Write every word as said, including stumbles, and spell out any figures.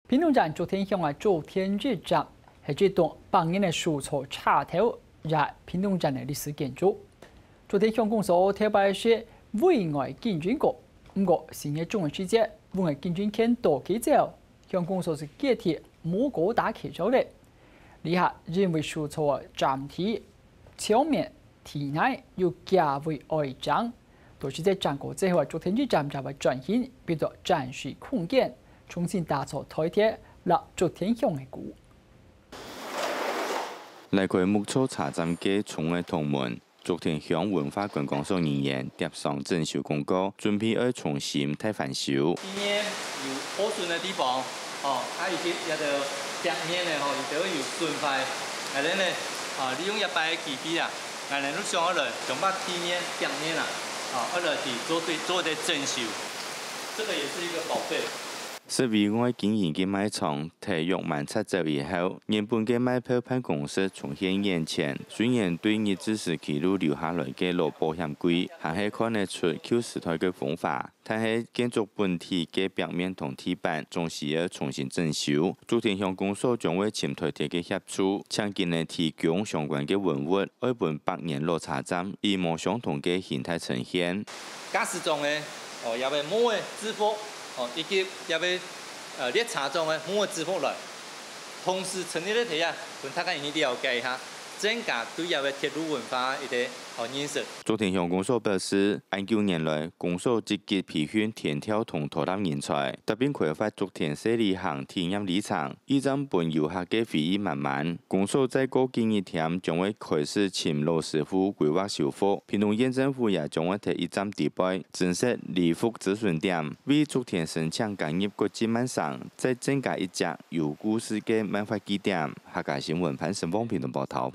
屏東縣竹田鄉个竹田一站，係這棟百年个手作車頭，也屏東縣个歷史建築。竹田鄉公所頭擺係委外經營過，毋過新業種个時節，委外經營權到期走，鄉公所就決定無過打契約了。這下因為手作个站體、牆面、地泥有較為愛整，到時節整過之後，竹田一站也會轉型，變做展示空間，重新打造台鐵摎竹田鄉个鼓。拉開木造車站个窗仔同門，竹田鄉文化觀光所人員貼上整修公告，準備愛重新大翻修。地面有破損个地方，吼，啊，以及這个壁面呢，吼，佢都有損壞，𠊎等呢，啊，利用這擺个機會啊，𠊎等就想愛來將這地面、壁面啊，啊，愛來去做對，做一個整修，這個也是一個保費。 設委外經營个賣場，大約滿七折以後，原本个賣票辦公室重現原狀，雖然對日治時期就留下來个老保險櫃，還係看得出舊時代个風華，但係建築本體个壁面同地板總係愛重新整修。竹田鄉公所將會尋台鐵个協助，請佢等提供相關个文物，愛分百年老車站以無相同个形態呈現。駕駛座个，哦，這位木个制服，哦，以及這位，呃，列車座个木个制服來，同時陳列个體驗，分大家人去了解一下，增加對這位鐵路文化一個，哦，認識。竹田鄉公所表示，恁久年來，公所積極培訓田調同拖拉人才，特別開發竹田細旅行體驗里程， 一站分遊客个回憶滿滿。公所再過幾日添將會開始尋老師傅規劃修復，屏東縣政府也將會在一站底背增設旅服諮詢點，為竹田申請加入國際慢城，再增加一隻有故事个漫畫據點。客家新聞潘成峰屏東報導。